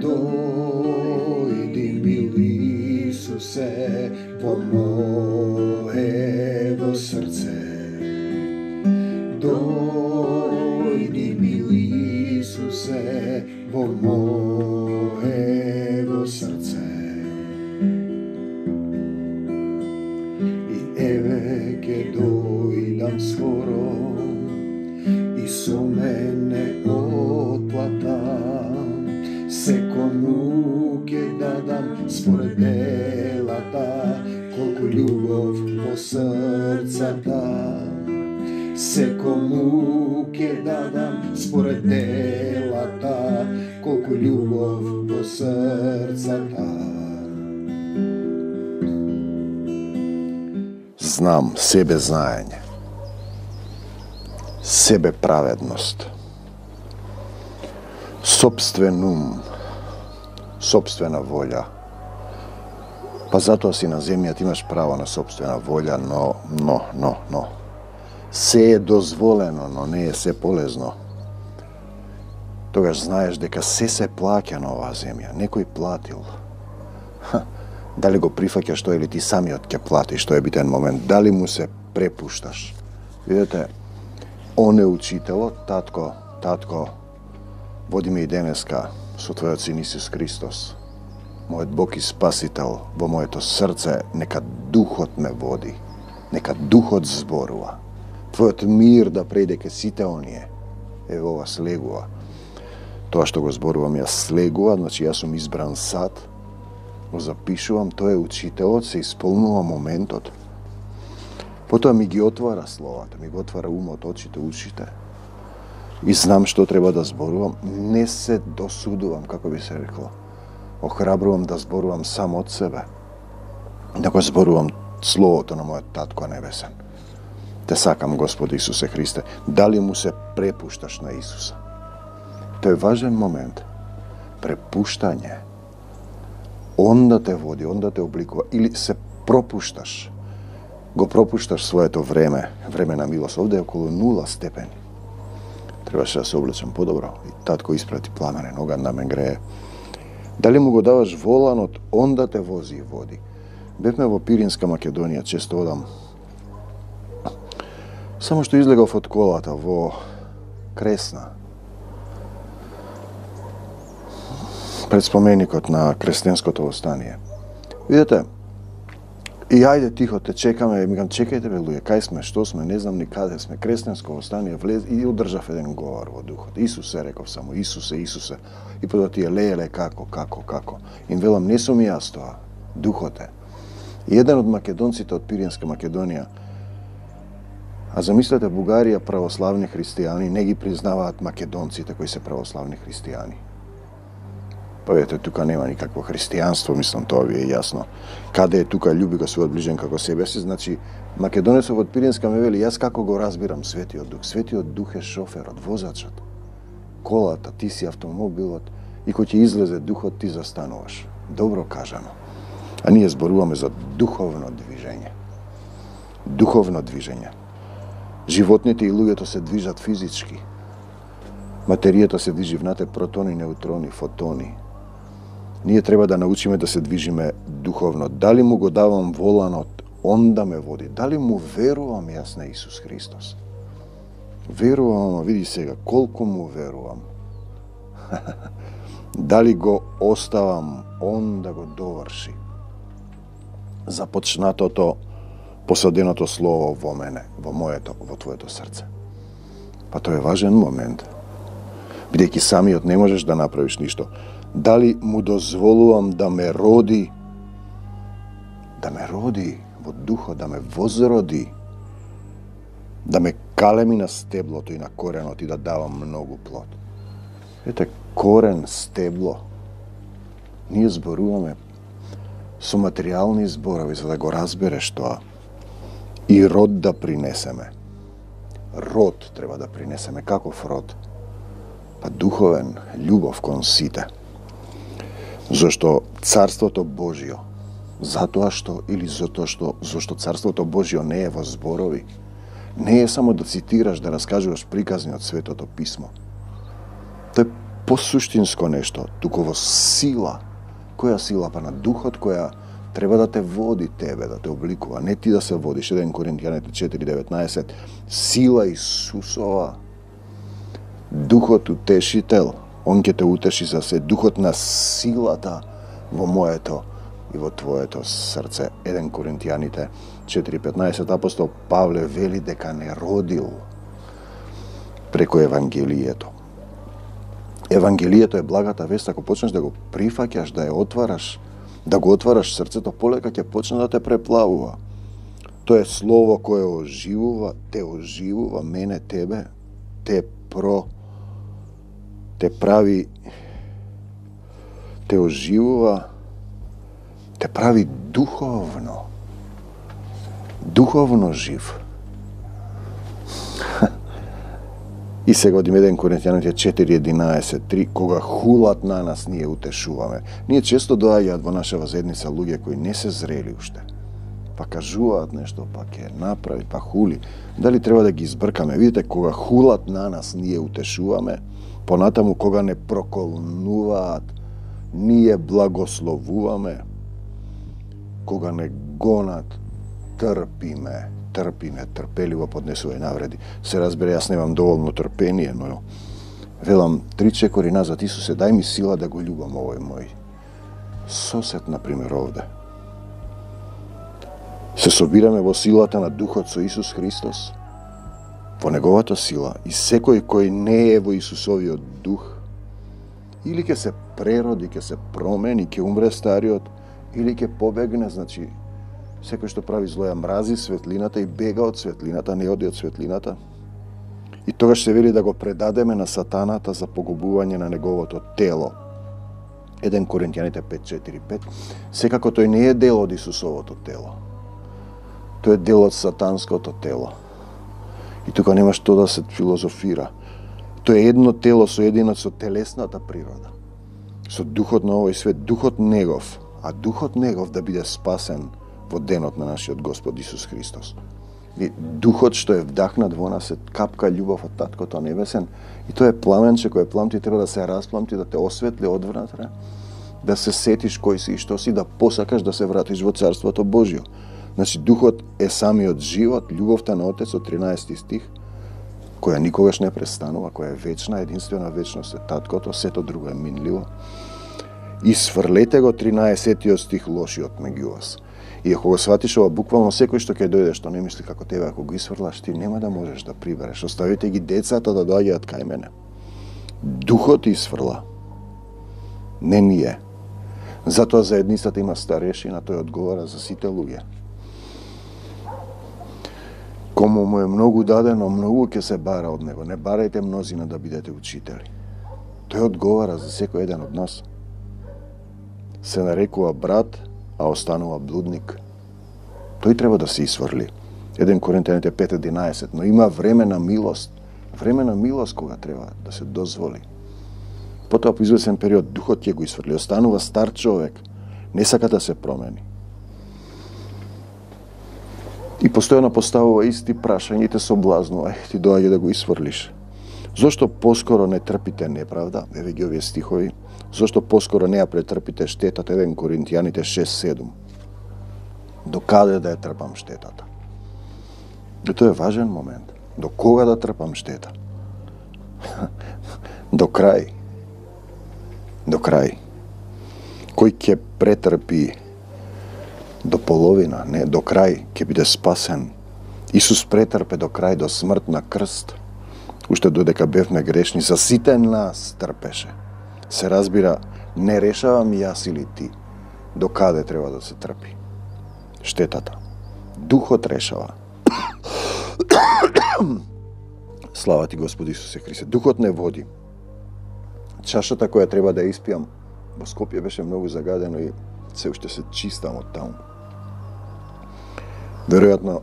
Дојди, мили Исусе, во моево срце. Дојди, мили Исусе, во моево срце. И еве ке дојдам скоро, и со мене отплата. Секому ке дадам според делата, колку љубов во срцата. Секому ке дадам според делата, колку љубов во срцата. Знам, себе знаење, себе праведност, сопствен ум, сопствена волја. Па затоа си на земјата, имаш право на сопствена волја, но. Се е дозволено, но не е се полезно. Тогаш знаеш дека се плаќа на оваа земја. Некој платил. Дали го прифаќаш тоа или ти самиот ќе платиш, тоа е битен момент. Дали му се препушташ? Видете, он е учителот, татко, води ме и денеска со Твојот Син Исус Христос. Мојот Бог и Спасител, во моето срце, нека Духот ме води, нека Духот зборува. Твојот мир да прејде ке сите оние. Ево ова слегува. Тоа што го зборувам јас слегува, значи јас сум избран сад, го запишувам, тој е учителот, се исполнува моментот. Потоа ми ги отвара словата, ми го отвара умот, очите, ушите. И знам што треба да зборувам. Не се досудувам, како би се рекло. Охрабрувам да зборувам само од себе. Да го зборувам словото на мојот Татко Небесен. Те сакам, Господи Исусе Христе. Дали му се препушташ на Исуса? Тој е важен момент. Препуштање. Он да те води, он да те обликува. Или се пропушташ. Го пропушташ своето време на милост. Овде е околу 0 степени. Требаше да се облечам подобро. И татко испрати пламенен оган да ме грее. Дали му го даваш воланот, он да те вози и води. Бевме во Пиринска Македонија, често одам. Само што излегав од колата во Кресна. Пред споменикот на крестенското востание. Видете, и ајде тихо те чекаме, ми чекајте бе луѓе, кај сме, што сме, не знам ни каде сме. Крестенско востание влез и одржав еден говор во духот. Исусе, реков само, Исусе. И потоа тие леле како. Им велам, не сум јас тоа, духот е. И еден од македонците од Пиринска Македонија, а замислете, Бугарија православни христијани не ги признаваат македонците кои се православни христијани. Па ете, тука нема никакво христијанство, мислам, тоа ви е јасно. Каде е тука љуби го својот ближен како себе си, значи, македонецов од Пиринска ме вели, јас како го разбирам Светиот Дух. Светиот Дух е шоферот, возачот. Колата, ти си автомобилот и кој ќе излезе Духот, ти застануваш. Добро кажано. А ние зборуваме за духовно движење. Духовно движење. Животните и луѓето се движат физички. Материјата се движи внатре, протони, неутрони, фотони. Ние треба да научиме да се движиме духовно. Дали му го давам воланот, он да ме води. Дали му верувам јас на Исус Христос? Верувам, види сега, колку му верувам. Дали го оставам, он да го доврши. Започнатото, посаденото слово во мене, во моето, во твоето срце. Па тоа е важен момент. Бидејќи самиот не можеш да направиш ништо. Дали му дозволувам да ме роди во духот, да ме возроди, да ме калеми на стеблото и на коренот и да давам многу плод. Ете, корен, стебло. Ние зборуваме со материјални зборови, за да го разбереш тоа. И род да принесеме. Род треба да принесеме. Каков род? Па духовен, љубов кон сите. Зошто Царството Божјо, зашто Царството Божјо не е во зборови, не е само да цитираш, да раскажуваш приказни од Светото Писмо. Тој посуштинско нешто, туку во сила. Која сила? Па на духот која треба да те води тебе, да те обликува, не ти да се водиш. 1 Коринтијаните 4:19, сила Исусова, духот утешител, он ќе те утеши за се, духот на силата во моето и во твоето срце. 1 Коринтијаните 4:15, апостол Павле вели дека не родил преку Евангелието. Евангелието е благата вест, ако почнеш да го прифаќаш, да ја отвараш, да го отвараш срцето, полека ќе почне да те преплавува. Тоа е слово кое оживува, те оживува, мене, тебе, те прави, те оживува, те прави духовно жив. И сега од 1 Коринтијаните 4:11, кога хулат на нас, ние утешуваме. Ние често доаѓаат во нашава заедница луѓе кои не се зрели уште. Па кажуваат нешто, па ќе направи, па хули. Дали треба да ги избркаме? Видите, кога хулат на нас, ние утешуваме. Понатаму, кога не проколнуваат, ние благословуваме. Кога не гонат, трпиме, трпеливо поднесува и навреди. Се разбере, јас немам доволно трпение, но велам 3 чекори назад, Исусе, дај ми сила да го љубам овој мој сосед, например, овде. Се собираме во силата на Духот со Исус Христос, во Неговата сила, и секој кој не е во Исусовиот Дух, или ќе се прероди, ќе се промени, ќе умре стариот, или ќе побегне, значи, секој што прави зло ја мрази светлината и бега од светлината, не оди од светлината. И тогаш се вели да го предадеме на сатаната за погубување на неговото тело. 1 Коринтијаните 5:4-5. Секако тој не е дел од Исусовото тело. Тој е дел од сатанското тело. И тука нема што да се филозофира. Тој е едно тело соединено со телесната природа. Со духот на овој свет, духот негов, а духот негов да биде спасен во денот на нашиот Господ Исус Христос. Духот што е вдахнат во нас е капка љубов од Таткото Небесен, и тоа е пламенче кој пламти, треба да се распламти, да те осветли одвнатре, да се сетиш кој си и што си, да посакаш да се вратиш во Царството Божјо. Значи, духот е самиот живот, љубовта на Отецот, 13 стих, која никогаш не престанува, која е вечна, единствена вечност е Таткото, сето друго е минливо. И сврлете го 13 стих лошиот меѓу вас. И ако го сватиш ова буквално, секој што ќе дојде што не мисли како тебе, ако го исфрлаш, ти нема да можеш да прибереш. Оставите ги децата да доаѓаат кај мене. Духот исфрла. Не ние. Затоа заедницата има старешина, тој одговара за сите луѓе. Кому му е многу дадено, многу ќе се бара од него. Не барајте мнозина да бидете учители. Тој одговара за секој еден од нас. Се нарекува брат, а останува блудник. Тој треба да се исфрли. 1 Коринтијаните 5:11, но има време на милост кога треба да се дозволи. Потоа по извесен период духот ќе го исфрли, останува стар човек, не сака да се промени. И постојано поставува исти прашања и те соблазнува, ти доаѓа да го исфрлиш. Зошто поскоро не трпите неправда? Еве ги овие стихови. Зошто поскоро не ја претрпите штетата? 1 Коринтијаните 6:7. До каде да ја трпам штетата? И тоа е важен момент. До кога да трпам штета? До крај. До крај. Кој ќе претрпи до половина, не, до крај, ќе биде спасен. Исус претрпе до крај, до смрт на крст. Уште додека бевме грешни, за сите нас трпеше. Се разбира, не решавам јас или ти до каде треба да се трпи штетата. Духот решава. Слава ти, Господи Исусе Христе. Духот не води. Чашата која треба да ја испијам во Скопје беше многу загадено и се уште се чистам од таму. Веројатно,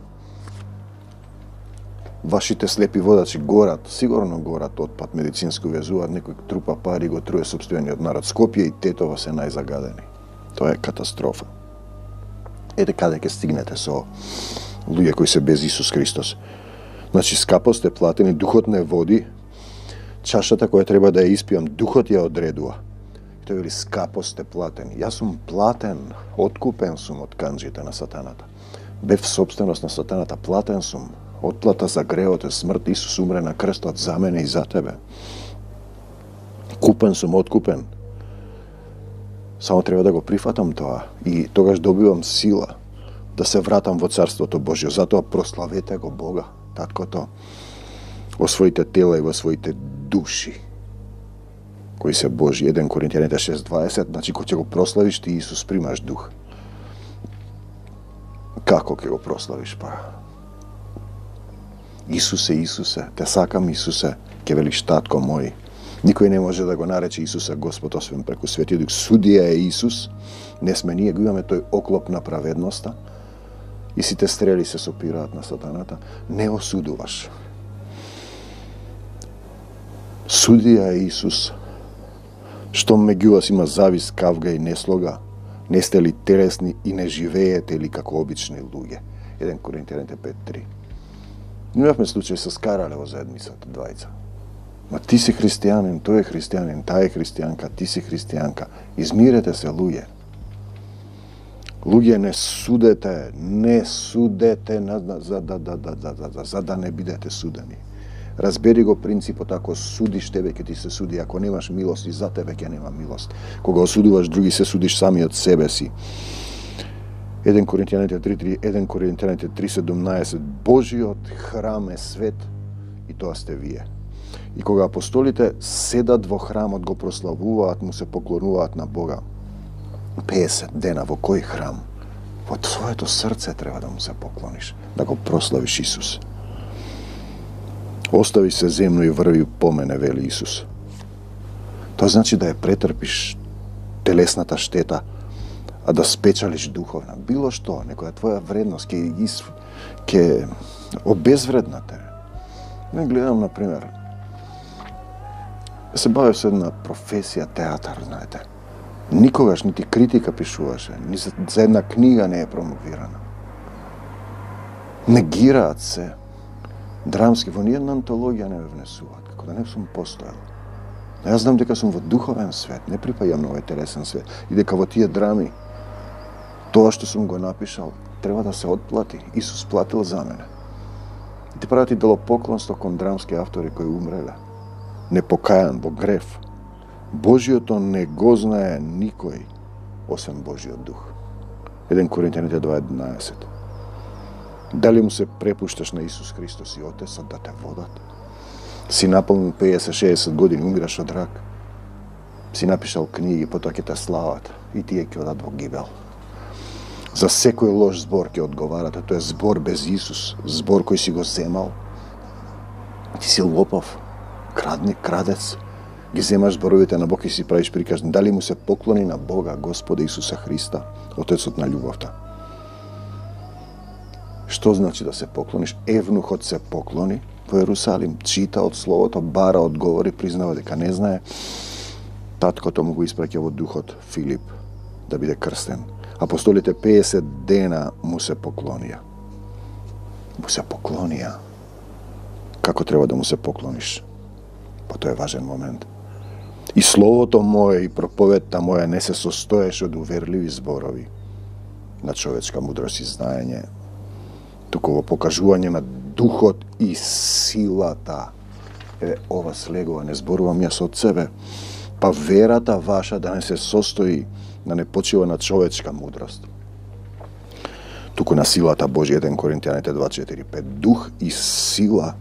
вашите слепи водачи горат, сигурно горат отпад, медицинско везуваат, некој трупа пари, го труе сопствениот народ. Скопје и Тетово се најзагадени. Тоа е катастрофа. Ете каде ќе стигнете со луѓе кои се без Исус Христос. Значи, скапо сте платени, духот не води, Чашата која треба да ја испијам, духот ја одредува. И тој вели, скапо сте платени. Јас сум платен, откупен сум од канџите на сатаната. Бев собственост на сатаната, платен сум. Отплата за гревот е смрт, Исус умре на крстот за мене и за тебе. Купен сум, откупен. Само треба да го прифатам тоа и тогаш добивам сила да се вратам во Царството Божјо. Затоа прославете го Бога, Таткото, во своите тела и во своите души, кои се Божи. 1 Коринтијаните 6:20, значи кога ќе го прославиш ти Исус, примаш дух. Како ќе го прославиш па? Исусе, те сакам Исусе, ќе велиш татко мој. Никој не може да го нарече Исуса Господ освен преку Светиот Дух. Судија е Исус, не сме ние, го имаме тој оклоп на праведноста и сите стрели се сопираат на сатаната. Не осудуваш. Судија е Исус. Штом меѓу вас има завис, кавга и неслога, не сте ли телесни и не живеете ли како обични луѓе? 1 Коринтијаните 5:3. Имавме случај со скарале во заедницата, двајца. Ма ти си христијанин, тој е христијанин, таа е христијанка, ти си христијанка. Измирете се, луѓе. Луѓе, не судете за да не бидете судени. Разбери го принципот, ако судиш, тебе ќе ти се суди, ако немаш милост и за тебе ќе нема милост. Кога осудуваш други, се судиш сами од себе си. 1 Коринтијаните 3:3, 1 Коринтијаните 3:17, Божиот храм е свет и тоа сте вие. И кога апостолите седат во храмот, го прославуваат, му се поклонуваат на Бога. 50 дена во кој храм? Во своето срце треба да му се поклониш, да го прославиш Исус. Остави се земно и врви по мене, вели Исус. Тоа значи да ја претрпиш телесната штета, а да спечалиш духовна. Било што, некоја твоја вредност ќе обезвреднате. Не гледам, например, се бавев со една професија театар, знаете. Никогаш нити критика пишуваше, ни за една книга не е промовирана. Негираат се. Драмски, во ниједна антологија не ме внесуваат, како да не сум постоел. Јас знам дека сум во духовен свет, не припаѓам на овој телесен свет, и дека во тие драми, тоа што сум го напишал, треба да се отплати. Исус платил за мене. И те прават и делопоклонство кон драмски автори кои умреле. Непокајан во грев. Божиото не го знае никој, освен Божиот дух. 1 Коринтијаните 2:11. Дали му се препушташ на Исус Христос и Отецот да те водат? Си наполнил 50-60 години, умираш од рак. Си напишал книги, потоа ќе те слават и тие ќе одат во гибел. За секој лош збор ќе одговарате, тоа е збор без Исус, збор кој си го земал. Ти си лопов, крадец, ги земаш зборовите на Бог и си правиш приказни. Дали му се поклони на Бога, Господа Исуса Христа, Отецот на љубовта? Што значи да се поклониш? Евнухот се поклони во Ерусалим, чита од Словото, бара одговори, признава дека не знае. Таткото му го испраќа во духот Филип да биде крстен. Апостолите 50 дена му се поклонија. Му се поклонија. Како треба да му се поклониш? Па тоа е важен момент. И словото моје и проповедта моја не се состоеше од уверливи зборови на човечка мудрост и знаење, туку во покажување на духот и силата. Ова слегува, не зборувам јас од себе. Па верата ваша да не се состои, да не почива на човечка мудрост, туку на силата Божја. 1 Коринтијаните 2:4-5. Дух и сила,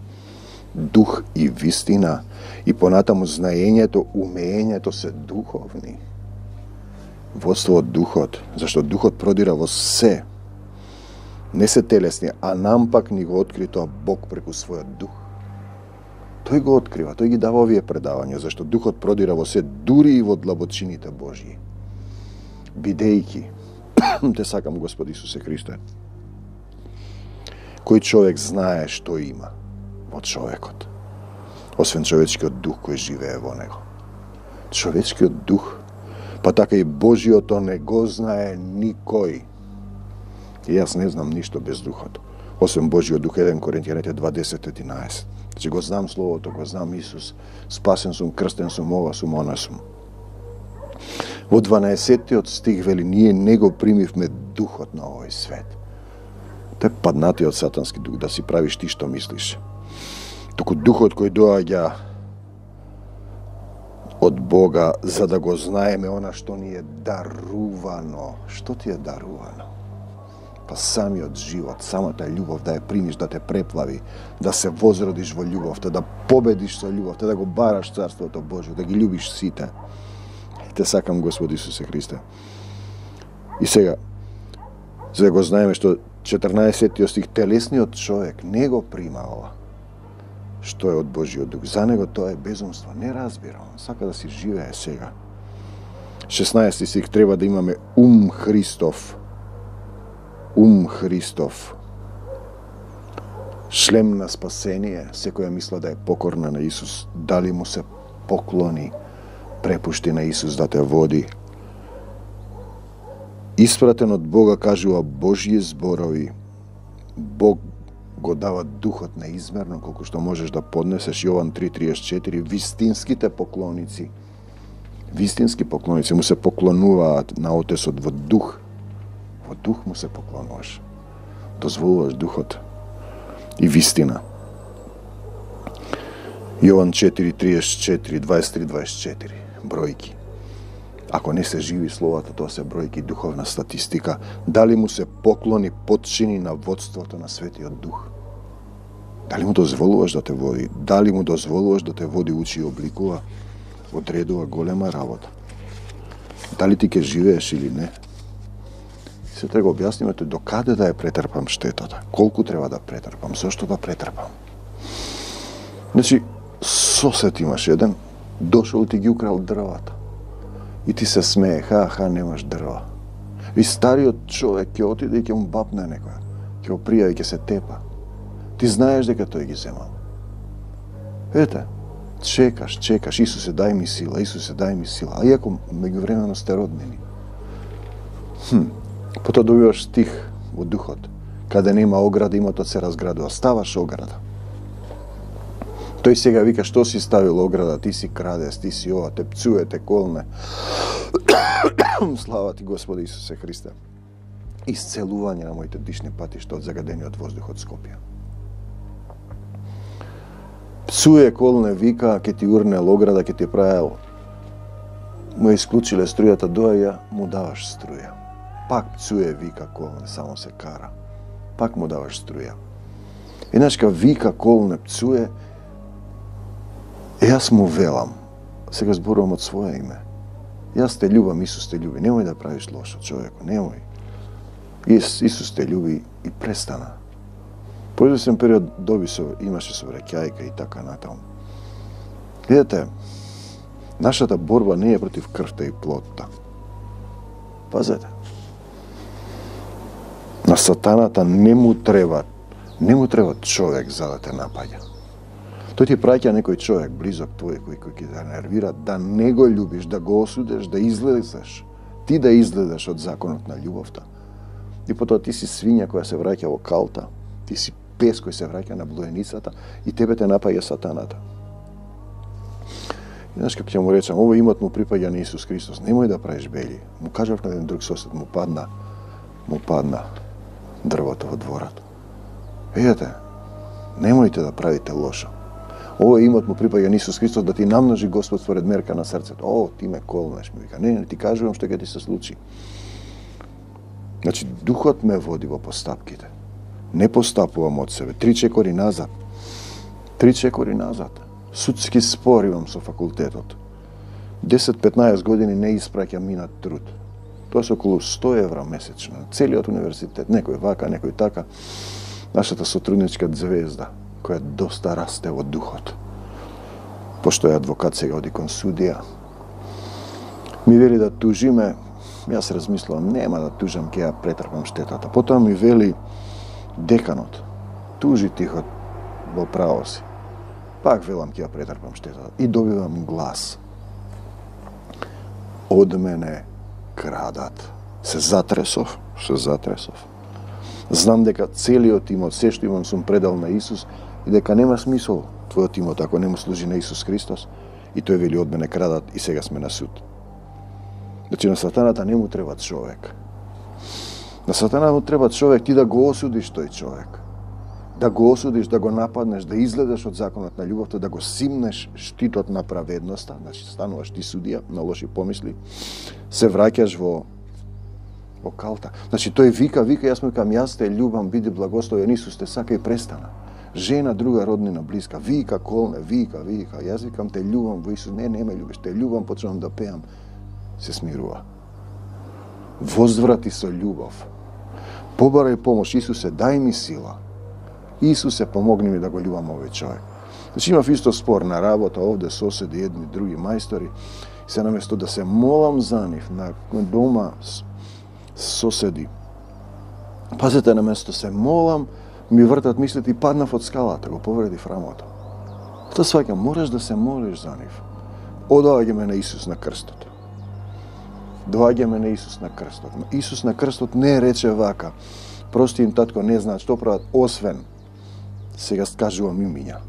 дух и вистина, и понатаму знаењето, умењето се духовни. Водство од духот, зашто духот продира во се, не се телесни, а нам пак ни го откри тоа Бог преку својот дух. Тој го открива, тој ги дава овие предавања, зашто духот продира во се, дури и во длабочините Божји. Бидејќи, те сакам Господ Исусе Христе, кој човек знае што има во човекот, освен човечкиот дух кој живее во него. Човечкиот дух, па така и Божиото не го знае никој. И јас не знам ништо без духот, освен Божиот дух. 1 Коринтијаните 2:10-11. Значи го знам Словото, го знам Исус, спасен сум, крстен сум, ова сум, она сум. Во 12-тиот стих вели, ние не го примивме духот на овој свет. Тој е паднатиот сатански дух, да си правиш ти што мислиш. Току духот кој доаѓа од Бога, за да го знаеме она што ни е дарувано. Што ти е дарувано? Па самиот живот, самата љубов, да ја примиш, да те преплави, да се возродиш во љубовта, да победиш со љубовта, да го бараш Царството Божие, да ги љубиш сите. Те сакам, Господи Исусе Христе. И сега, за да го знаеме што 14 стих, телесниот човек не го прима ова, што е од Божиот дух. За него тоа е безумство. Не разбира, он сака да си живее сега. 16 стих, треба да имаме ум Христов. Ум Христов. Шлем на спасение, секоја мисла да е покорна на Исус, дали му се поклони, препушти на Исус да те води. Испратен од Бога, кажува Божји зборови. Бог го дава духот неизмерно, колку што можеш да поднесеш. Јован 3:34, вистинските поклоници, вистински поклоници му се поклонуваат на Отецот во дух. Во дух му се поклонуваш. Дозволуваш духот и вистина. Јован 4:34, 23-24, бројки. Ако не се живи словата, тоа се бројки, духовна статистика. Дали му се поклони, подчини на водството на Светиот Дух? Дали му дозволуваш да те води? Дали му дозволуваш да те води, учи и обликува? Одредува голема работа. Дали ти ке живееш или не? Се треба објаснimate до каде да ја претрпам штетата, колку треба да претрпам, зошто да претрпам. Значи, сосед имаш еден, дошол ти ги украл дрвата. И ти се смее, ха, немаш дрва. И стариот човек ќе отиде и ќе му бапне некоја. Ќе го пријави, ќе се тепа. Ти знаеш дека тој ги земал. Ете, чекаш, Исусе дај ми сила, Исусе дај ми сила. А иако меѓувремено сте роднини. Потоа добиваш стих во духот. Каде нема ограда, имотот се разградува. Ставаш ограда. Тој сега вика, што си ставил ограда, ти си крадес, ти си ова, те пцуе, те колне. Слава ти, Господи Исусе Христе. Исцелување на моите дишни патишта од загадениот воздух од Скопје. Пцуе, колне, вика, ке ти урнел ограда, ке ти правил. Му исклучиле струјата, доаѓа, му даваш струја. Пак пцуе, вика, колне, само се кара. Пак му даваш струја. Еднашка вика, колне, пцуе, јас му велам, сега зборувам од своје име. Јас те љубам, Исус те љуби. Немој да правиш лошо, човеко, немој. Исус те љуби и престана. По известен период имаше сообраќајка и така натаму. Видете, нашата борба не е против крвта и плотта. Пазете. На сатаната не му треба човек за да те напаѓа. Тој ти праќа некој човек близок твој кој ќе те нервира, да не го љубиш, да го осудеш, да излезеш. Ти да излезеш од законот на љубовта. И потоа ти си свиња која се враќа во калта, ти си пес кој се враќа на блоеницата и тебе те напаѓа сатаната. И знаеш како ќе му речам, овој имот му припаѓа на Исус Христос, немој да правиш бели. Му кажав на еден друг сосед, му падна дрвото во дворот. Видете, немојте да правите лошо. Овој имот му припаѓа на Исус Христос, да ти намножи Господ според мерка на срцето. О, ти ме колнеш, ми вика. Не, ти кажувам што ќе ти се случи. Значи, духот ме води во постапките. Не постапувам од себе. 3 чекори назад. Судски спор имам со факултетот. 10-15 години не испраќам минат труд. Тоа се околу 100 евра месечно. Целиот универзитет, некој вака, некој така. Нашата сотрудничка звезда, која доста расте во духот. Пошто е адвокат, сега оди кон судија. Ми вели да тужиме, јас размислувам, нема да тужам, ќе ја претрпам штетата. Потоа ми вели деканот, тужи тихо во право си. Пак велам, ќе ја претрпам штетата. И добивам глас. Од мене крадат. Се затресов. Знам дека целиот имот, се што имам, сум предал на Исус и дека нема смисол твојот имот, ако не му служи на Исус Христос, и тој вели од мене крадат и сега сме на суд. Значи на сатаната не му треба човек. На сатана му треба човек, ти да го осудиш тој човек. Да го осудиш, да го нападнеш, да изгледаш од законот на љубовта, да го симнеш штитот на праведноста, значи стануваш ти судија на лоши помисли, се враќаш во калта. Значи тој вика, јас му викам, јас те љубам, биди благословен Исус, те сака и престана. Жена, друга роднина, блиска, вика, колне, вика, јас викам, те љубам во Исус, не ме љубиш, те љубам, почнувам да пеам, се смирува. Возврати со љубов. Побарај помош, Исусе, дај ми сила. Исусе, помогни ми да го љубам овој човек. Значи имав исто спор на работа, овде соседи, едни, други мајстори, се наместо да се молам за нив на дома соседи. Пазете, наместо се молам, ми вртат мислите и паднав од скалата, го повредив рамото. Тоа сваќам, мораш да се молиш за нив. Одоаѓаме на Исус на крстот. Доаѓаме на Исус на крстот. Исус на крстот не рече вака, прости им татко, не знаат што прават, освен, сега скажувам имиња,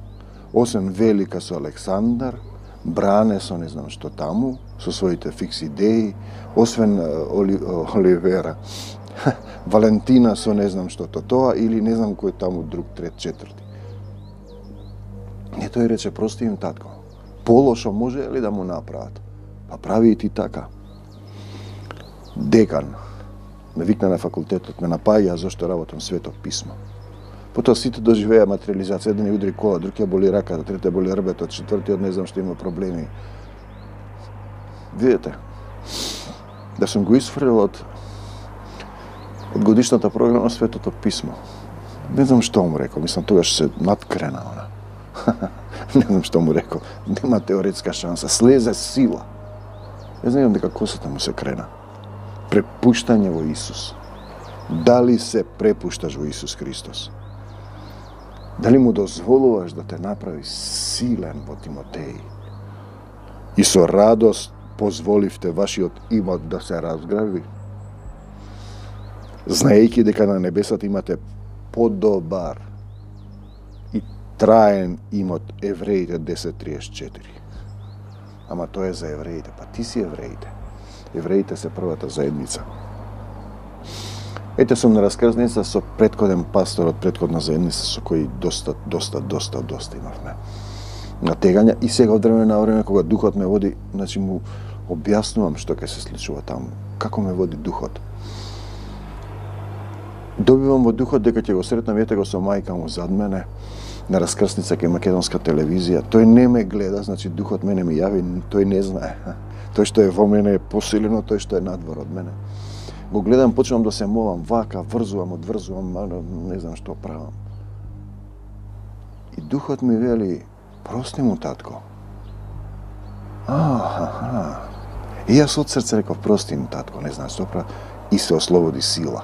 освен Велика со Александар, Бране со не знам што таму, со своите фикс идеи, освен Оливера, Валентина со не знам што тоа, или не знам кој таму друг, трет, четврти. Не, тој рече, прости им татко, полошо може ли да му направат? Па прави и ти така. Декан ме викна на факултетот, ме напаѓа зашто работам Свето писмо. Потоа сите доживеа материализација, еден ја удри кола, друг ја боли раката, трет ја боли рбетот, четвртиот не знам што има проблеми. Видете, да сум го исфрлил од годишната програма Светото писмо. Не знам што му рекол, мислам тогаш се надкрена она. Не знам што му рекол, нема теоретска шанса, слезе сила. Јас знам дека косата му се крена. Препуштање во Исус. Дали се препушташ во Исус Христос? Дали му дозволуваш да те направи силен во Тимотеј? И со радост позволивте вашиот имот да се разграби? Знаејќи дека на небесата имате подобар и траен имот, Евреите 10:34. Ама тоа е за евреите, па ти си евреите. Евреите се првата заедница. Ете, сум на раскрсница со претходен пастор од претходна заедница со кој доста имавме натегања, и сега од време на време кога духот ме води, значи му објаснувам што ќе се случува таму, како ме води духот. Добивам во духот дека ќе го сретнам, ете го со мајка му зад мене на раскрсница кај македонска телевизија. Тој не ме гледа, значи духот мене ми јави, тој не знае. Тој што е во мене е посилено, тој што е надвор од мене. Го гледам, почнувам да се молам, вака, врзувам, одврзувам, не знам што правам. И духот ми вели, прости му татко. И јас од срце реков, прости му татко, не знам што правам, и се ослободи сила.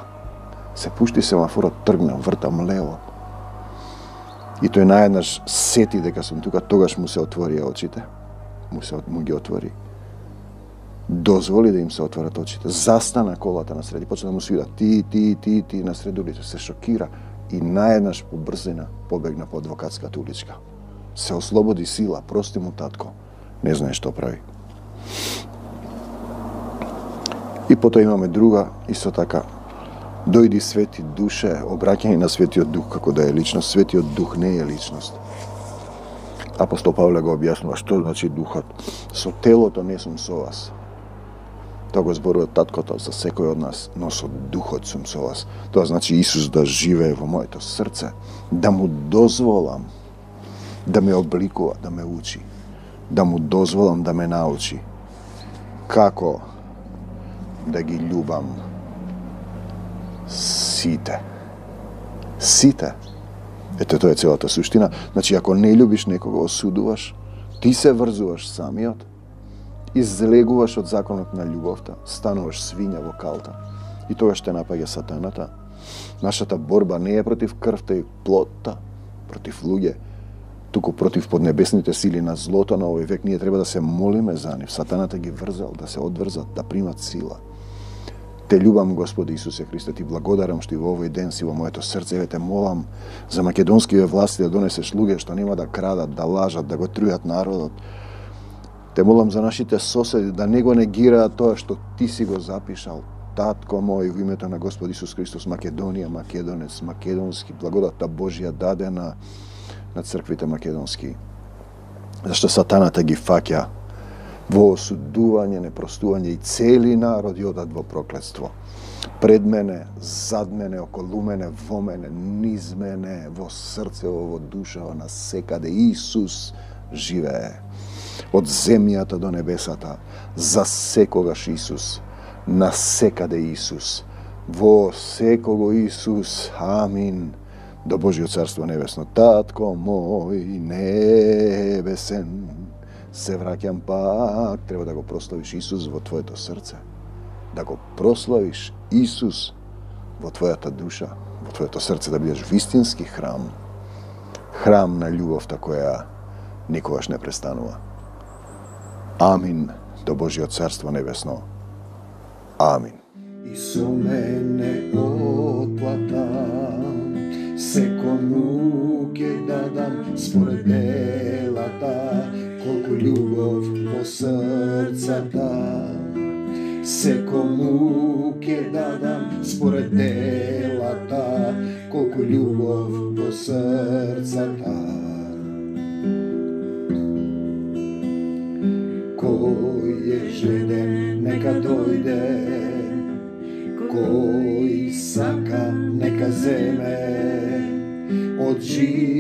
Се пушти семафорот, тргнам, вртам лево. И тој наеднаш сети дека сум тука, тогаш му се отворија очите. Му ги отвори. Дозволи да им се отворат очите. Застана колата на среди, почна да му свира ти на сред улица, се шокира и наеднаш по брзина побегна по адвокатската уличка. Се ослободи сила, прости му татко, не знае што прави. И потоа имаме друга, исто така, дојди Свети Душе, обраќање на Светиот Дух како да е личност. Светиот Дух не е личност. Апостол Павле го објаснува што значи Духот. Со телото не сум со вас. Тоа го зборува таткото за секој од нас, но со Духот сум со вас. Тоа значи Исус да живее во моето срце, да му дозволам да ме обликува, да ме учи, да му дозволам да ме научи како да ги љубам сите. Сите. Ето, тоа е целата суштина. Значи, ако не љубиш некого, осудуваш, ти се врзуваш самиот, излегуваш од законот на љубовта, стануваш свиња во калта. И тоа ще напаѓа сатаната. Нашата борба не е против крвта и плотта, против луѓе, туку против поднебесните сили на злото на овој век. Ние треба да се молиме за нив. Сатаната ги врзал, да се одврзат, да примат сила. Те љубам, Господи Исусе Христе, ти благодарам што и во овој ден си во моето срце, те молам за македонските власти да донесеш луѓе што нема да крадат, да лажат, да го трујат народот. Те молам за нашите соседи да не го негираат тоа што ти си го запишал. Татко мој, во името на Господ Исус Христос, Македонија, македонец, македонски, благодатта Божја дадена на црквите македонски. Зашто сатаната ги фаќа во осудување, непростување и цели народи одат во проклетство. Пред мене, зад мене, околу мене, во мене, низ мене, во срцево, во душава, на секаде Исус живее. Од земјата до небесата, за секогаш Исус, на секаде Исус, во секого Исус, амин, до Божјо царство небесно. Татко мој небесен, се враќам пак, треба да го прославиш Исус во твоето срце, да го прославиш Исус во твојата душа, во твоето срце, да бидеш вистински храм, храм на љубовта која никогаш не престанува. Амин, до Божјо царство небесно. Амин. И со мене отплата, секому ќе дадам според делата, колку љубов во срцата. Секому ќе дадам според делата, колку љубов во срцата. Кој е жеден, нека дојде, кој сака, нека земе од живот